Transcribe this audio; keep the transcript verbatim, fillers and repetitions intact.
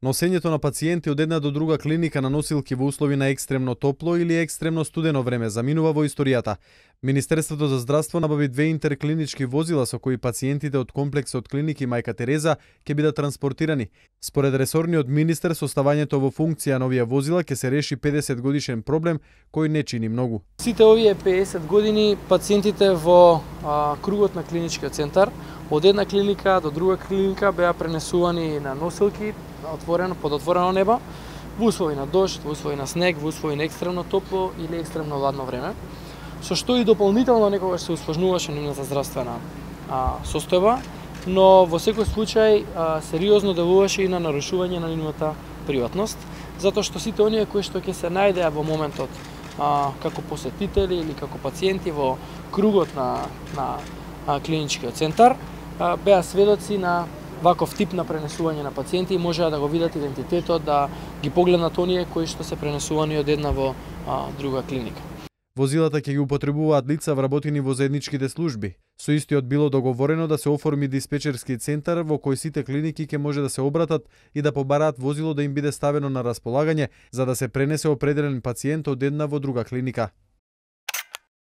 Носењето на пациенти од една до друга клиника на носилки во услови на екстремно топло или екстремно студено време заминува во историјата. Министерството за здравство набави две интерклинички возила со кои пациентите од комплексот клиники Мајка Тереза ќе бидат транспортирани. Според ресорниот министер, со ставањето во функција на овие возила ќе се реши педесет годишен проблем кој не чини многу. Сите овие педесет години пациентите во а, кругот на клиничкиот центар од една клиника до друга клиника беа пренесувани на носилки отворено под отворено небо, во услови на дожд, во услови на снег, во услови на екстремно топло или екстремно ладно време, со што и дополнително некогаш се усложнуваше нивната здравствена а, состојба, но во секој случај а, сериозно делуваше и на нарушување на нивната приватност, затоа што сите оние кои што ќе се најдеа во моментот а, како посетители или како пациенти во кругот на, на а, клиничкиот центар, а, беа сведоци на ваков тип на пренесување на пациенти и можеа да го видат идентитетот, да ги погледнат оние кои што се пренесувани од една во а, друга клиника. Возилата ќе ги употребуваат лица вработени во заедничките служби. Со истиот било договорено да се оформи диспечерски центар во кој сите клиники ќе може да се обратат и да побараат возило да им биде ставено на располагање за да се пренесе определен пациент од една во друга клиника.